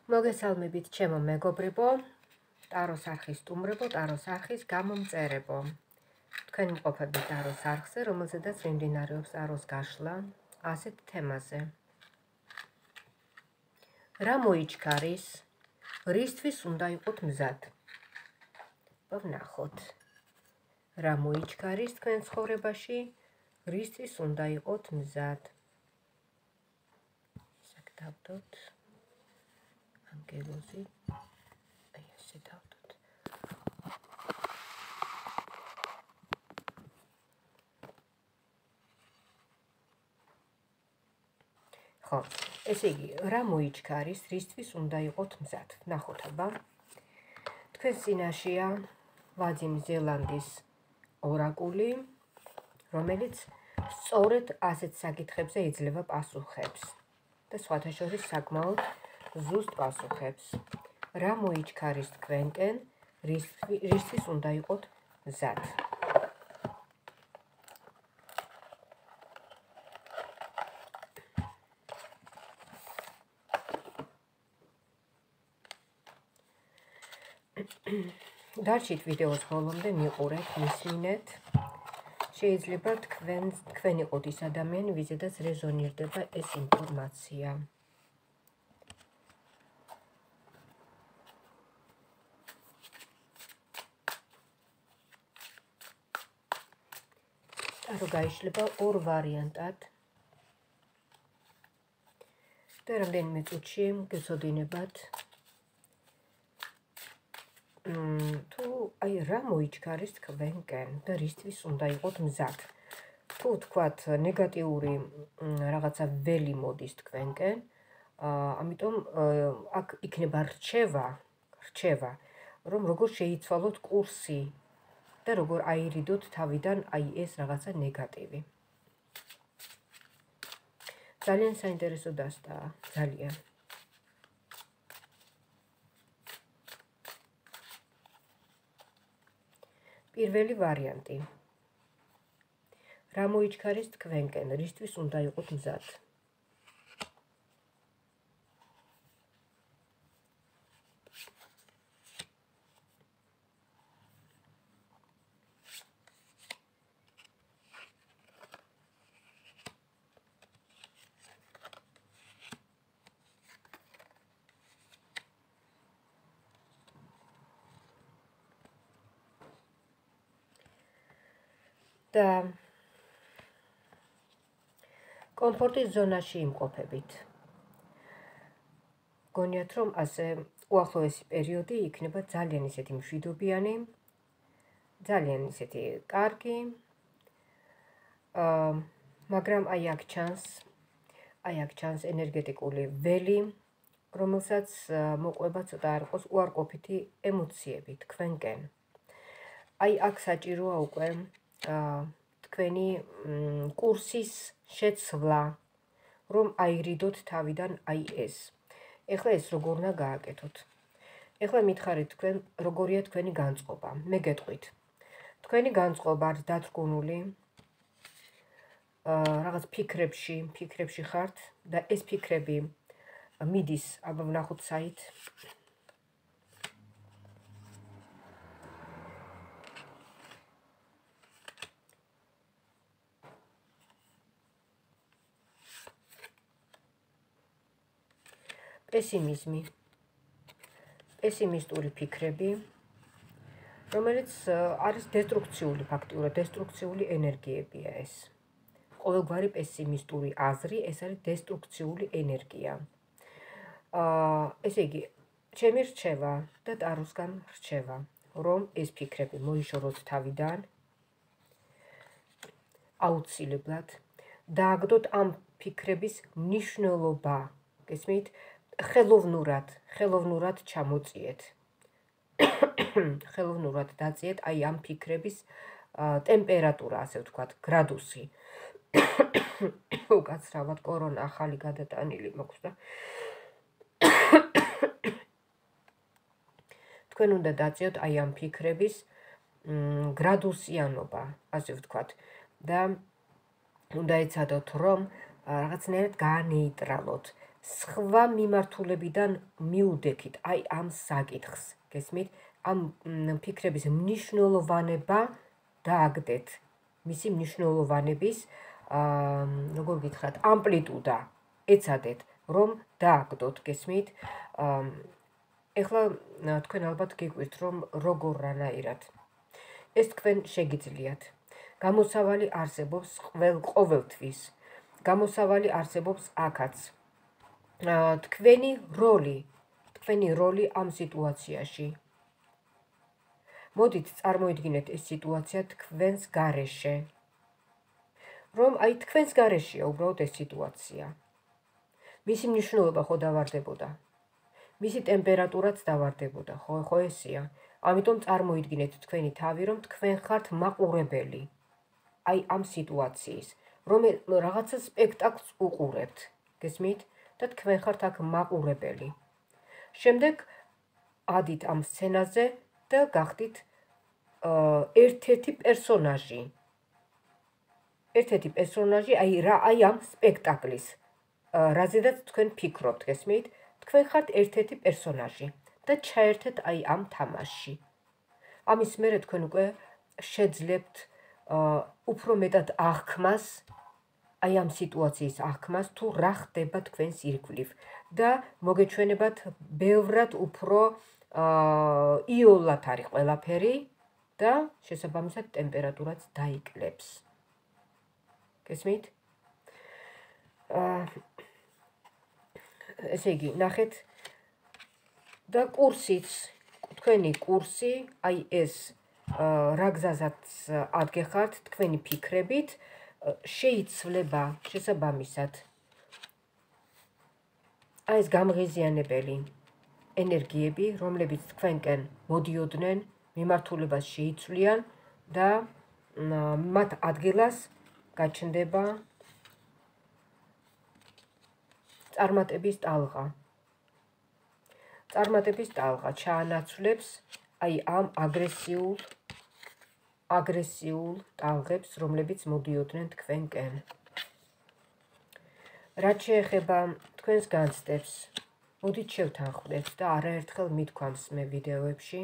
მოგესალმებით ჩემო მეგობრებო, ტაროს არხის სტუმრებო, ტაროს არხის გამომწერებო. თქვენ იმყოფებით ტაროს არხზე, რომელზედაც მიმდინარეობს ტაროს გაშლა ასეთ თემაზე. რა მოიჩქარის, რისთვის უნდა იყოთ მზად? ვნახოთ. რა მოიჩქარის თქვენ ცხოვრებაში, რისთვის უნდა იყოთ მზად? საკდავდოთ. ანგელოზი, აი ესე დავდოთ. ხო, ესე იგი, რა მოიჩქარის, რისთვის უნდა იყოთ მზად? ნახოთ აბა. თქვენ წინაშეა ვადიმ ზელანდის ორაკული, რომელიც სწორედ ასეთ საკითხებზე იძლევა პასუხებს და სხვათა შორის საკმაოდ ზუსტ პასუხებს. რა მოიჩქარის თქვენკენ, რისთვის უნდა იყოთ მზად? დარჩით ვიდეოს ბოლომდე, მიყურეთ, მისმინეთ. შეიძლება თქვენ იყოთ ის ადამიანი, ვიზედაც რეზონირდება ეს ინფორმაცია. ტარო გაიშლება ორ ვარიანტად და რამდენიმე წუთში გეცოდინებათ თუ აი რა მოიჩქარის თქვენკენ და რისთვის უნდა იყოთ მზად. თუ თქვათ ნეგატიური რაღაცა ველი მოდის თქვენკენ, ამიტომ აქ იქნება რჩევა, რომ როგორ შეიცვალოთ კურსი და როგორ აირიდოთ თავიდან აი ეს რაღაცა ნეგატივი. ძალიან საინტერესო დასტაა, ძალიან. პირველი ვარიანტი. რა მოიჩქარის თქვენკენ, რისთვის უნდა იყოთ მზად? და კომფორტის ზონაში იმყოფებით. გონიათ, რომ ასე უახლოესი პერიოდი იქნება ძალიან ისეთი მშვიდობიანი, ძალიან ისეთი კარგი, მაგრამ აი აქ ჩანს ენერგეტიკული ველი, რომელსაც მოყვება ცოტა არ იყოს უარყოფითი ემოციები თქვენკენ. აი აქ საჭიროა უკვე თქვენი კურსის შეცვლა, რომ აირიდოთ თავიდან აი ეს. ეხლა ეს როგორ უნდა გააკეთოთ? ეხლა მითხარით თქვენ, როგორია თქვენი განწყობა. მე გეტყვით. თქვენი განწყობა არის დათრგუნული რაღაც ფიქრებში ხართ და ეს ფიქრები მიდის, აბა ვნახოთ საით. პესიმისტური ფიქრები, რომელიც არის დესტრუქციული, ფაქტიურად დესტრუქციული ენერგიებია ეს. ყოველგვარი პესიმისტური აზრი, ეს არის დესტრუქციული ენერგია. ესე იგი, ჩემი რჩევა და ტაროსგან რჩევა, რომ ეს ფიქრები მოიშოროთ თავიდან, აუცილებლად დააგდოთ ამ ფიქრების მნიშვნელობა, გესმით? ხელოვნურად ჩამოწიეთ. ხელოვნურად დაწიეთ აი ამ ფიქრების ტემპერატურა, ასე ვთქვათ, გრადუსი. უკაცრავად კორონა ახალი გადატანილი მოხდა. თქვენ უნდა დაწიოთ აი ამ ფიქრების გრადუსიანობა, ასე ვთქვათ, და უნდა ეცადოთ, რომ რაღაცნაირად გაანეიტრალოთ სხვა მიმართულებიდან მიუდექით, აი ამ საკითხს, გესმით? ამ ფიქრების მნიშვნელოვანება დააგდეთ, მისი მნიშვნელოვანების, როგორ გითხრათ, ამპლიტუდა ეცადეთ, რომ დააგდოთ, გესმით? ეხლა თქვენ ალბათ გიგვირთ, რომ როგორ რანაირად. ეს თქვენ შეგიძლიათ. გამოსავალი არსებობს ყოველთვის. გამოსავალი არსებობს აქაც. თქვენი როლი ამ სიტუაციაში. მოდით წარმოიდგინეთ ეს სიტუაცია თქვენს გარეშე. რომ აი თქვენს გარეშეა უბრალოდ ეს სიტუაცია. მისი მნიშვნელობა ხო დავარდებოდა. მისი ტემპერატურაც დავარდებოდა, ხო ესეა. ამიტომ წარმოიდგინეთ თქვენი თავი, რომ თქვენ ხართ მაყურებელი. აი ამ სიტუაციის, რომ რაღაცა სპექტაკლს უყურებთ, გესმით? და თქვენ ხართ აქ მაყურებელი. შემდეგ ადით ამ სცენაზე და გახდით ერთ-ერთი პერსონაჟი. ერთ-ერთი პერსონაჟი, აი ამ სპექტაკლის, რაზედაც თქვენ ფიქრობთ, გესმით? თქვენ ხართ ერთ-ერთი პერსონაჟი და ჩაერთეთ აი ამ თამაშში. ამის მერე თქვენ უკვე შეძლებთ უფრო მეტად აღქმას, აი ამ სიტუაციის აღქმას, თუ რა ხდება თქვენს ირგვლივ და მოგეჩვენებათ ბევრად უფრო იოლად არის ყველაფერი და შესაბამისად ტემპერატურაც დაიკლებს. გესმით? ესე იგი, ნახეთ და კურსიც, თქვენი კურსი, აი ეს რა გზაზაც ადგეხართ თქვენი ფიქრებით, შეიცვლება შესაბამისად. აი ეს გამღიზიანებელი ენერგიები, რომლებიც თქვენკენ მოდიოდნენ, მიმართულებას შეიცვლიან და მათ ადგილას გაჩნდება წარმატების ტალღა. წარმატების ტალღა ჩაანაცვლებს აი ამ აგრესიულ ტალღებს, რომლებიც მოდიოდნენ თქვენკენ. რაც შეეხება თქვენს განცდებს, მოდით შევთანხმდეთ და არაერთხელ მithქვამს მე ვიდეოებში,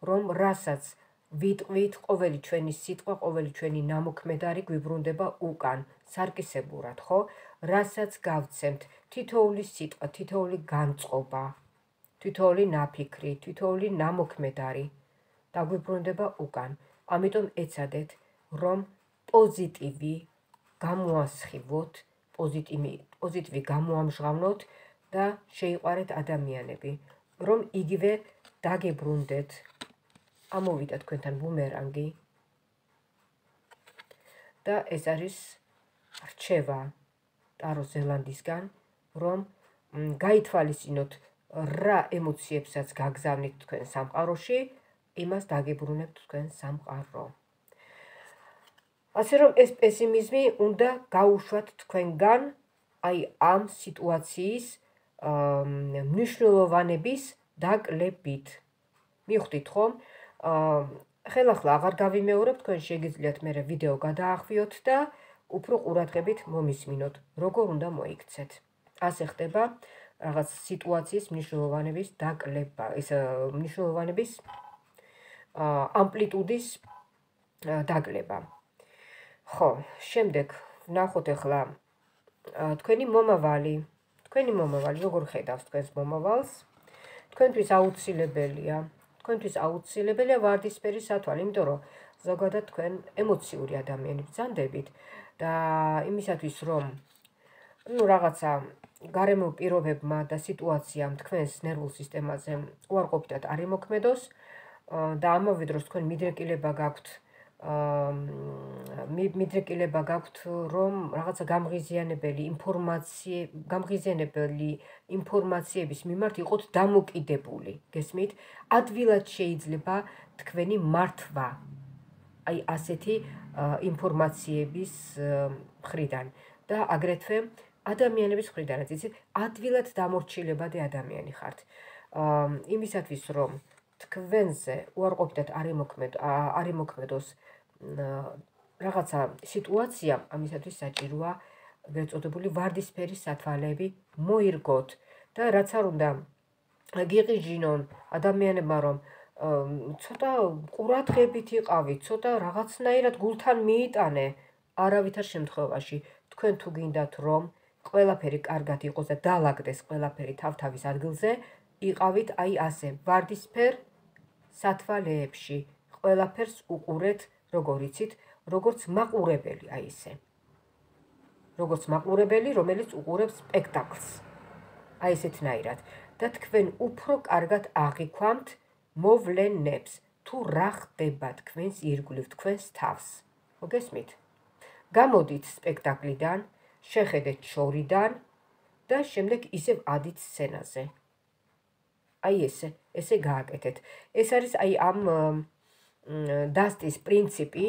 რომ რასაც ვიტყვით, ყოველი ჩვენი სიტყვა, ყოველი ჩვენი ნამოქმედარი გვიბრუნდება უკან, სარკისებურად, ხო? რასაც გავცემთ, თითოეული სიტყვა, თითოეული განწყობა, თითოეული ნაფიქრი, თითოეული ნამოქმედარი დაგვიბრუნდება უკან. ამიტომ ეცადეთ, რომ პოზიტივი გამოასხივოთ, პოზიტივი გამოამჟღავნოთ და შეიყვარეთ ადამიანები, რომ იგივე დაგებრუნდეთ. ამოვიდა თქვენთან ბუმერანგი და ეს არის რჩევა ტარო ზელანდისგან, რომ გაითვალისწინოთ რა ემოციებსაც გაგზავნით თქვენ სამყაროში, იმას დაგებრუნებთ თქვენ სამყარო. ასე რომ ეს პესიმიზმი უნდა გაუშვათ თქვენგან აი ამ სიტუაციის მნიშვნელოვანების დაკლებით. მივხვდით ხომ? ხელახლა აღარ გავიმეორებ, თქვენ შეგიძლიათ მე ვიდეო გადაახვიოთ და უფრო ყურადღებით მომისმინოთ, როგორ უნდა მოიქცეთ. ასე ხდება რაღაც სიტუაციის მნიშვნელოვანების დაკლება, ეს მნიშვნელოვანების ამპლიტუდის დაკლება. ხო, შემდეგ ვნახოთ ახლა თქვენი მომავალი, როგორ ხედავს თქვენს მომავალს? თქვენთვის აუცილებელია ვარდისფერი სათვალე, იმიტომ რომ ზოგადად თქვენ ემოციური ადამიანი ბრძანდებით და იმისათვის რომ რაღაცა გარემო პირობებმა და სიტუაციამ თქვენს ნერვულ სისტემაზე უარყოფითად არ იმოქმედოს და ამავე დროს თქვენ მიდრეკილება გაქვთ, რომ რაღაცა გამღიზიანებელი ინფორმაციების მიმართ იყოთ დამოკიდებული, გესმით? ადვილად შეიძლება თქვენი მართვა აი ასეთი ინფორმაციების მხრიდან და აგრეთვე ადამიანების მხრიდანაც, იცით, ადვილად დამორჩილებადი ადამიანი ხართ. იმისათვის, რომ თქვენზე უარყოფითად არ იმოქმედოს რაღაცა სიტუაცია, ამისათვის საჭიროა ეგრეთ წოდებული ვარდისფერი სათვალეები მოირგოთ და რაც არ უნდა გიყიჟინონ ადამიანებმა, რომ ცოტა ყურადღებით იყავით, ცოტა რაღაცნაირად გულთან მიიტანე, არავითარ შემთხვევაში თქვენ თუ გინდათ რომ ყველაფერი კარგად იყოს და დაალაგდეს ყველაფერი თავთავის ადგილზე, იყავით აი ასე ვარდისფერ სათვალეებში, ყველაფერს უყურეთ, როგორ იცით, როგორც მაყურებელი, აი ესე. როგორც მაყურებელი, რომელიც უყურებს სპექტაკლს. აი ესეთნაირად. და თქვენ უფრო კარგად აღიქვამთ მოვლენებს, თუ რა ხდება თქვენს ირგვლივ, თქვენს თავს. მოგესმით? გამოდით სპექტაკლიდან, შეხედეთ შორიდან და შემდეგ ისევ ადით სცენაზე. აი ესე გააკეთეთ. ეს არის აი ამ დასტის პრინციპი,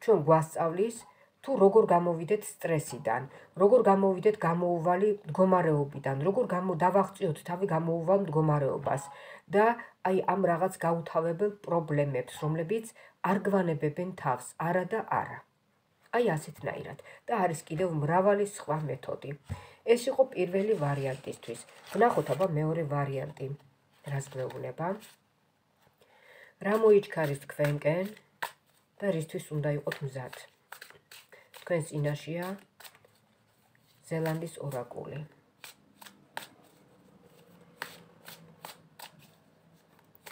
ჩვენ გვასწავლის თუ როგორ გამოვიდეთ სტრესიდან, როგორ გამოვიდეთ გამოუვალი მდგომარეობიდან, როგორ დავაღწიოთ თავი გამოუვალ მდგომარეობას და აი ამ რაღაც გაუთავებელ პრობლემებს, რომლებიც არ გვანებებენ თავს, არა და არა. აი ასეთნაირად და არის კიდევ მრავალი სხვა მეთოდი. ეს იყო პირველი ვარიანტისთვის. ვნახოთ აბა მეორე ვარიანტი. რას გვეუბნება? რა მოიჩქარის თქვენკენ და რისთვის უნდა იყოთ მზად? თქვენს წინაშეა ზელანდის ორაკული.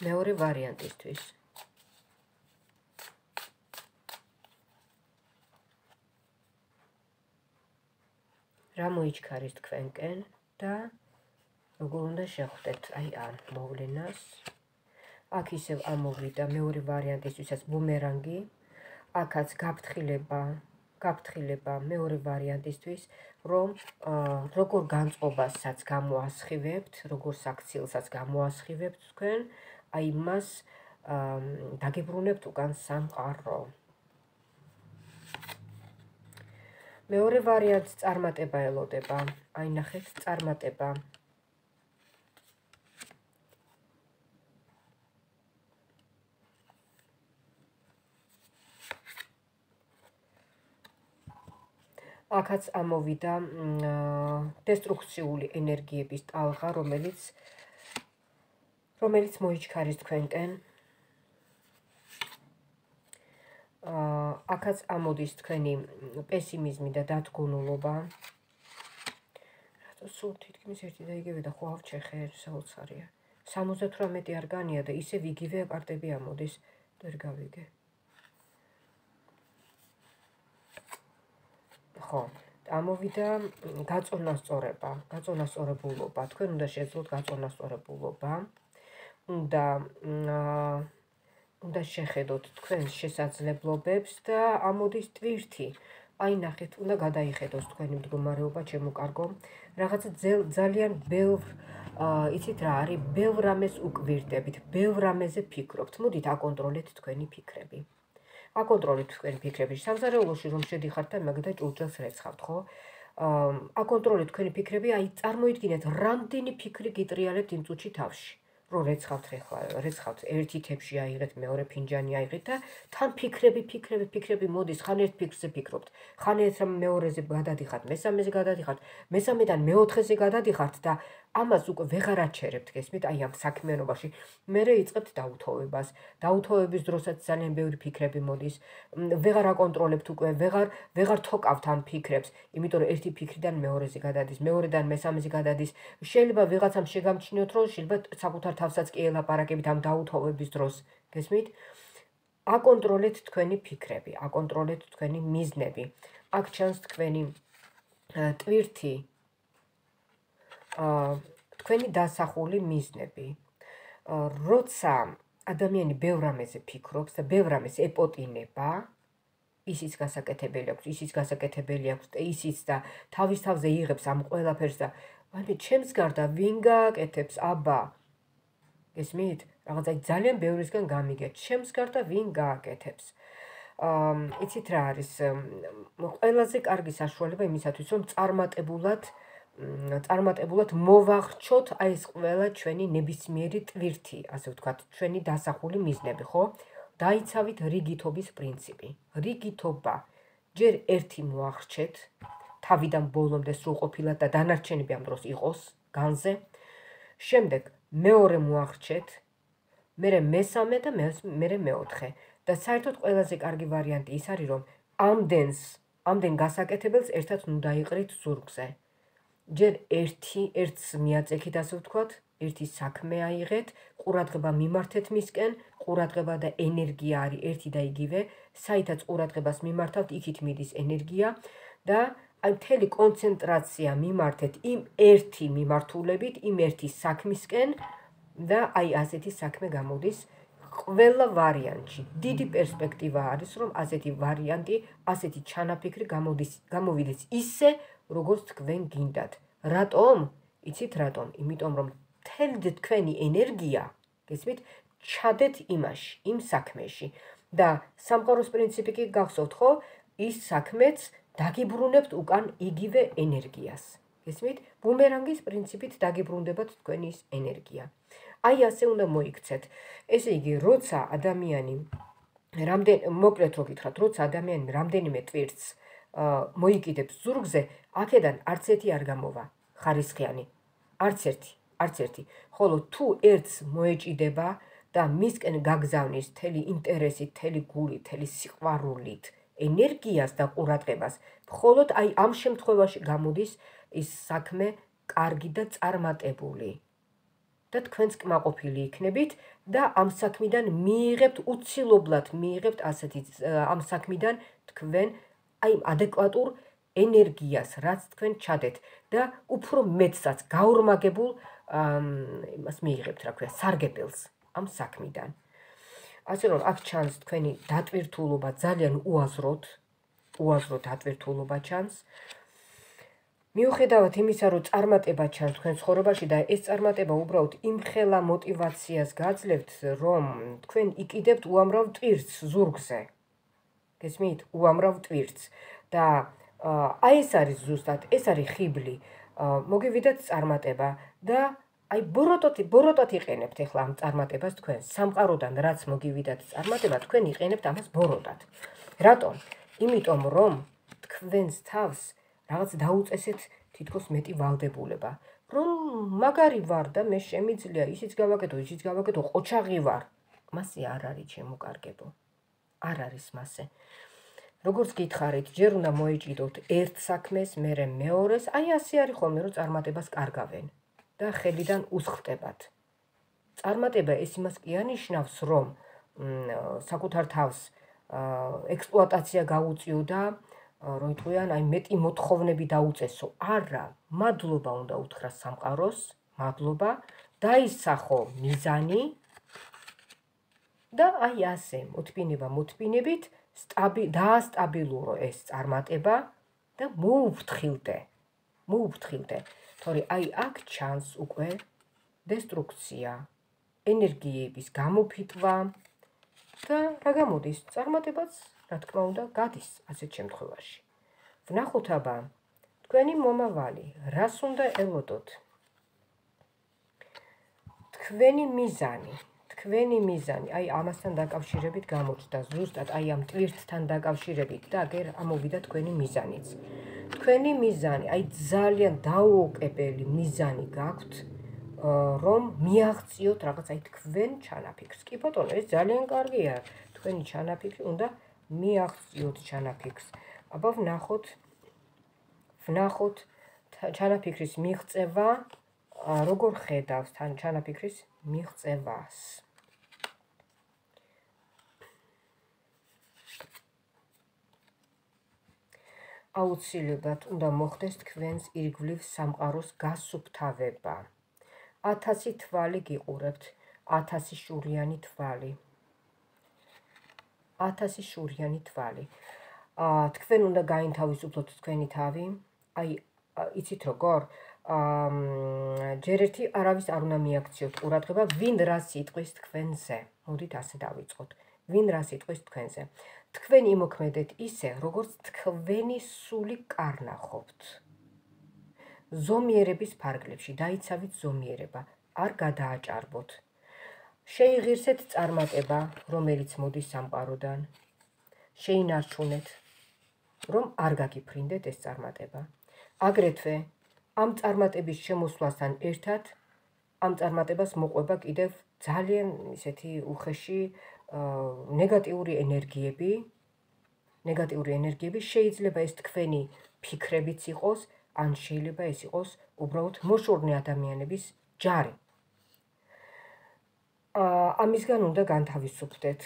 მეორე ვარიანტისთვის. რა მოიჩქარის თქვენკენ და როგორ უნდა შეხვდეთ აი ამ მოვლენას? აქ ისევ ამოვიდა მეორე ვარიანტისთვისაც ბუმერანგი, აქაც გაფრთხილება მეორე ვარიანტისთვის, რომ როგორ განწყობასაც გამოასხივებთ, როგორ საქციელსაც გამოასხივებთ თქვენ, აი მას დაგებრუნებთ უკან სამყარო. მეორე ვარიანტს წარმატება ელოდება. აი ნახეთ, წარმატება. აქაც ამოვიდა დესტრუქციული ენერგიების ტალღა, რომელიც მოიჩქარის თქვენკენ. აქაც ამოდის თქვენი პესიმიზმი და დათგუნულობა. რატო სულ თითქმის ერთი და იგივე და ხო ავჩეხე, საოცარია. 78 არ განია და ისევ იგივე კარტები ამოდის, ვერ გავიგე. ხო, ამოვიდა გაწონასწორებულობა. თქვენ უნდა შეძლოთ გაწონასწორებულობა. უნდა შეხედოთ თქვენს შესაძლებლობებს და ამოდის ტვირთი. აი ნახეთ, უნდა გადაიხედოს თქვენი მდგომარეობა, ჩემო კარგო. რაღაცა ძალიან ბევრ, იცით რა არის, ბევრ რამეს უკვირდებით, ბევრ რამეზე ფიქრობთ. მოდით აკონტროლეთ თქვენი ფიქრები. აკონტროლეთ თქვენი ფიქრები. სამზარეულოში რომ შედიხართ და მაგ და ჭურჭელს რეცხავთ, ხო? აკონტროლეთ თქვენი ფიქრები, აი წარმოიდგინეთ, რამდენი ფიქრი გიტრიალებთ იმ წუთში თავში. რომ რეცხავთ, ერთი თებში აიღეთ, მეორე ფინჯანი აიღეთ და თან ფიქრები მოდის, ხან ერთ ფიქრზე ფიქრობთ, ხან ერთ მეორეზე გადადიხართ, მესამეზე გადადიხართ, მესამედან მეოთხეზე გადადიხართ და ამას უკვე ვეღარ აჩერებთ, გესმით, აი ამ საქმიანობაში. მერე იწყებთ დაუთოვებას. დაუთოვების დროსაც ძალიან ბევრი ფიქრები მოდის. ვეღარ აკონტროლებთ უკვე, ვეღარ თოკავთ ამ ფიქრებს, იმიტომ რომ ერთი ფიქრიდან მეორეზე გადადის, მეორედან მესამეზე გადადის. შეიძლება ვიღაცამ შეგამჩნიოთ, რომ შეიძლება საკუთარ თავსაც კი ელაპარაკებით ამ დაუთოვების დროს, გესმით? აკონტროლეთ თქვენი ფიქრები, აკონტროლეთ თქვენი მიზნები. აქ ჩანს თქვენი ტვირთი, თქვენი დასახული მიზნები. როცა ადამიანი ბევრ რამეზე ფიქრობს და ბევრ რამეს ეპოტინება, ისიც გასაკეთებელი აქვს, ისიც გასაკეთებელი აქვს და ისიც და თავის თავზე იღებს ამ ყველაფერს და აი ჩემს გარდა ვინ გააკეთებს, აბა გესმით? რაღაცა ძალიან ბევრისგან გამიგეთ, ჩემს გარდა ვინ გააკეთებს. იცით რა არის, ყველაზე კარგი საშუალება იმისათვის, რომ წარმატებულად მოვახჩოთ აი ეს ყველა ჩვენი ნებისმიერი ტვირთი, ასე ვთქვათ, ჩვენი დასახული მიზნები, ხო? დაიცავით რიგითობის პრინციპი. რიგითობა. ჯერ ერთი მოახრჩეთ, თავიდან ბოლომდე სრულყოფილად და დანარჩენები ამ დროს იყოს განზე. შემდეგ მეორე მოახერხეთ, მერე მესამე და მერე მეოთხე. და საერთოდ ყველაზე კარგი ვარიანტი ის არის, რომ ამდენ გასაკეთებელს ერთად ნუ დაიყრით ზურგზე. ჯერ ერთს მიაწექით, ასე ვთქვათ, ერთი საქმე აიღეთ, ყურადღება მიმართეთ მისკენ, ყურადღება და ენერგია არის ერთი და იგივე, საითაც ყურადღებას მიმართავთ, იქით მიდის ენერგია და აი მთელი კონცენტრაცია მიმართეთ იმ ერთი მიმართულებით, იმ ერთი საქმისკენ და აი ასეთი საქმე გამოდის ყველა ვარიანტში. დიდი პერსპექტივა არის, რომ ასეთი ვარიანტი, ასეთი ჩანაფიქრი გამოვიდეს ისე, როგორც თქვენ გინდათ. რატომ? იცით რატომ? იმიტომ რომ მთელი თქვენი ენერგია, გესმით, ჩადეთ იმაში, იმ საქმეში და სამყაროს პრინციპი კი გახსოვთ, ხო? ის საქმეც დაგიბრუნებთ უკან იგივე ენერგიას. გესმით? ბუმერანგის პრინციპით დაგიბრუნდებათ თქვენი ის ენერგია. აი ასე უნდა მოიქცეთ. ესე იგი, როცა ადამიანი მოკლედ რო გითხრათ, როცა ადამიანი რამდენიმე ტვირთს მოიკიდებს ზურგზე, აქედან არც ერთი არ გამოვა ხარისხიანი. არც ერთი. ხოლო თუ ერთს მოეჭიდება და მისკენ გაგზავნის მთელი ინტერესით, მთელი გულით, მთელი სიყვარულით, ენერგიას და ყურადღებას, მხოლოდ აი ამ შემთხვევაში გამოდის ის საქმე კარგი და წარმატებული. და თქვენც კმაყოფილი იქნებით და ამ საქმიდან უცილობლად მიიღებთ ამ საქმიდან თქვენ აი ადეკვატურ ენერგიას, რაც თქვენ ჩადეთ და უფრო მეტსაც გაორმაგებულ იმას მიიღებთ, რა ქვია, სარგებელს ამ საქმიდან. ასე რომ აქ ჩანს თქვენი დატვირთულობა, ძალიან უაზროდ დატვირთულობა ჩანს. მიუხედავად იმისა, რომ წარმატება ჩანს თქვენ ცხოვრებაში და ეს წარმატება უბრალოდ იმხელა мотивაციას გაძლევთ, რომ თქვენ იყიდებთ უამრავ ტვირთს ზურგზე. გესმით? უამრავ ტვირთს და აი ეს არის ზუსტად, ეს არის ხიბლი. მოგივიდათ წარმატება და აი ბოროტად იყენებთ ახლა ამ წარმატებას თქვენ. სამყაროდან რაც მოგივიდათ წარმატება, თქვენ იყენებთ ამას ბოროტად. რატომ? იმიტომ რომ თქვენს თავს რაღაც დაუწესეთ თითქოს მეტი ვალდებულება, რომ მაგარი ვარ და მე შემიძლია ისიც გავაკეთო, ყოჩაღი ვარ. მასე არ არის ჩემო კარგებო. არ არის მასე. როგორც გითხარით, ჯერ უნდა მოეჭიდოთ ერთ საქმეს, მერე მეორეს, აი ასე არის ხოლმე, რომ წარმატებას კარგავენ და ხელიდან უსხლტებათ. წარმატება ეს იმას კი ანიშნავს, რომ საკუთარ თავს ექსპლუატაცია გაუწიო და რომ იტყვიან, აი მეტი მოთხოვნები დაუწესო. არა, მადლობა უნდა უთხრა სამყაროს, მადლობა, დაისახო მიზანი და აი ასე მოთმინებით დაასტაბილურო ეს წარმატება და მოუფრთხილდე. თორე აი აქ ჩანს უკვე დესტრუქცია, ენერგიების გამოფიტვა და რა გამოდის? წარმატებაც, რა თქმა უნდა, გადის ასეთ შემთხვევაში. ვნახოთ აბა, თქვენი მომავალი, რას უნდა ელოდოთ? თქვენი მიზანი, აი ამასთან დაკავშირებით გამოჩნდა, ზუსტად აი ამ ტვირთთან დაკავშირებით და აგერ ამოვიდა თქვენი მიზანიც. თქვენი მიზანი, აი ძალიან დაუოკებელი მიზანი გაქვთ, რომ მიაღწიოთ რაღაც აი თქვენ ჩანაფიქრს. კი ბატონო, ეს ძალიან კარგია, თქვენი ჩანაფიქრი უნდა მიაღწიოთ ჩანაფიქრს. აბა ვნახოთ ჩანაფიქრის მიღწევა, როგორ ხედავს თან ჩანაფიქრის მიღწევას. აუცილებლად უნდა მოხდეს თქვენს ირგვლივ სამყაროს გასუფთავება. 1000 თვალი გიყურებთ, 1000 შურიანი თვალი. 1000 შურიანი თვალი. თქვენ უნდა გაინთავისუფლოთ თქვენი თავი. აი, იცით როგორ? ჯერ ერთი არავის არ უნდა მიაქციოთ ყურადღება, ვინ რას იტყვის თქვენზე. მოდით ასე დავიწყოთ. ვინ რას იტყვის თქვენზე. თქვენ იმოქმედეთ ისე, როგორც თქვენი სული კარნახობთ. ზომიერების ფარგლებში დაიცავით ზომიერება, არ გადააჭარბოთ. შეიღირსეთ წარმატება, რომელიც მოდის სამყაროდან. შეინარჩუნეთ რომ არ გაგიფრინდეთ ეს წარმატება. აგრეთვე ამ წარმატების შემოსვლასთან ერთად ამ წარმატებას მოყვება კიდევ ძალიან ისეთი უხეში ნეგატიური ენერგიები, შეიძლება ეს თქვენი ფიქრებიც იყოს, ან შეიძლება ეს იყოს უბრალოდ მოშორნე ადამიანების ჯარი. ამისგან უნდა განთავისუფლდეთ.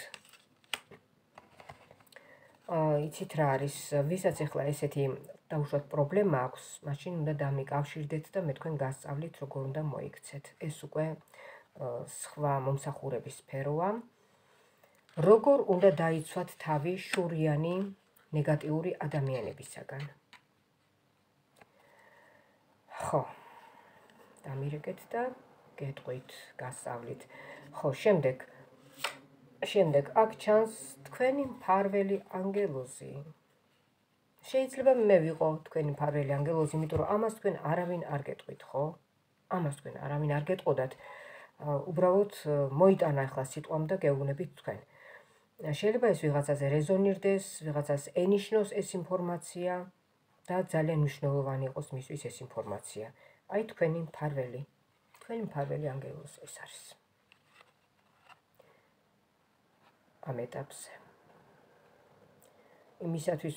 იცით რა არის, ვისაც ახლა ესეთი დაუშვათ პრობლემა აქვს, მაშინ უნდა დამიკავშირდეთ და მე თქვენ გასწავლით, როგორ უნდა მოიქცეთ. ეს უკვე სხვა მომსახურების სფეროა. როგორ უნდა დაიცვათ თავი შურიანი ნეგატიური ადამიანებისაგან. ხო, დამირეკეთ და გეტყვით, გასწავლით. ხო, შემდეგ აქ ჩანს თქვენი მფარველი ანგელოზი. შეიძლება მე ვიყო თქვენი მფარველი ანგელოზი, იმიტომ რომ ამას თქვენ არავინ არ გეტყვით, ხო? ამას თქვენ არავინ არ გეტყოდათ. უბრალოდ მოიტანა ახლა სიტყვამ და გეუბნებით თქვენ. შეიძლება ეს ვიღაცაზე რეზონირდეს, ვიღაცას ენიშნოს ეს ინფორმაცია და ძალიან მნიშვნელოვანი იყოს მისთვის ეს ინფორმაცია. აი თქვენი მფარველი ანგელოზი ეს არის. ამ ეტაპზე. იმისათვის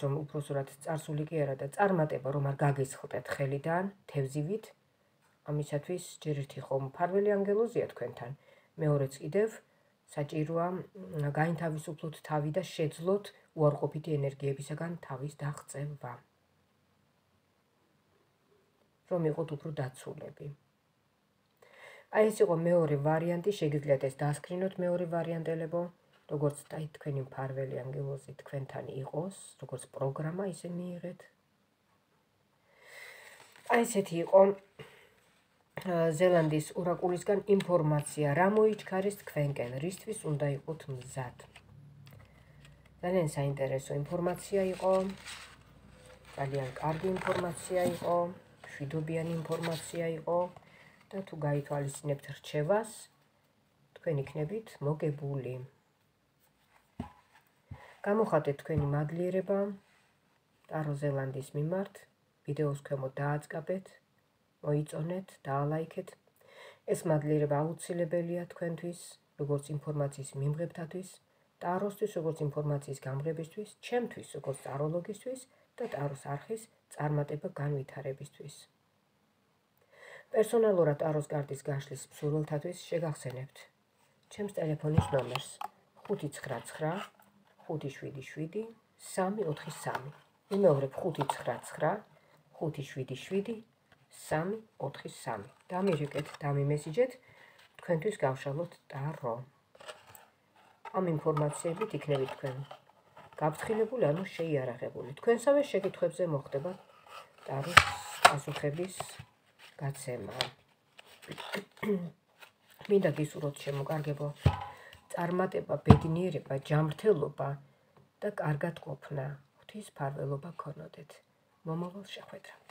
რომ უბრალოდ წარსული კი არა და წარმატება რომ არ გაგესხლტეთ ხელიდან, თევზივით, ამისათვის ჯერ ერთი ხომ მფარველი ანგელოზია თქვენთან. მეორეც კიდევ საჭიროა გაინთავისუფლოთ თავი და შეძლოთ უარყოფითი ენერგიებისაგან თავის დაღწევა. რომ იყოთ უფრო დაცულები. აი ეს იყო მეორე ვარიანტი, შეგიძლიათ ეს დაასკრინოთ მეორე ვარიანტელებო, როგორც თქვენი მფარველი ანგელოზი თქვენთან იყოს, როგორც პროგრამა ისე მიიღეთ. აი ესეთი იყო ზელანდიის ორაკულისგან ინფორმაცია, რა მოიჩქარეს თქვენკენ, რისთვის უნდა იყოთ მზად. ძალიან საინტერესო ინფორმაცია იყო, ძალიან კარგი ინფორმაცია იყო, მშვიდობიანი ინფორმაცია იყო და თუ გაითვალისწინებთ რჩევას, თქვენ იქნებით მოგებული. გამოხატეთ თქვენი მადლიერება ტარო ზელანდიის მიმართ, ვიდეოს ქვემოთ დააწყაბეთ, მოიწონეთ, დაალაიქეთ. ეს მადლიერება აუცილებელია თქვენთვის, როგორც ინფორმაციის მიმღებთათვის, ტაროსთვის, როგორც ინფორმაციის გამღებისთვის, ჩემთვის, როგორც ტაროლოგისთვის და ტაროს არხის წარმატება განვითარებისთვის. პერსონალურად ტაროს კარტის გაშლის მსურველთათვის შეგახსენებთ ჩემს ტელეფონის ნომერს 599 577 343. ვიმეორებ 599 577 343. დამირეკეთ, დამიმესიჯეთ, თქვენთვის გავშალოთ ტარო. ამ ინფორმაციებით იქნებით თქვენ გაფრთხილებული, ანუ შეიარაღებული. თქვენსავე შეკითხვებზე მოხდება ტაროს პასუხების გაცემა. მინდა გისურვოთ შემოკარგებო წარმატება, ბედნიერება, ჯანმრთელობა და კარგად ყოფნა. ღვთის მფარველობა გქონოდეთ. მომავალ შეხვედრამდე.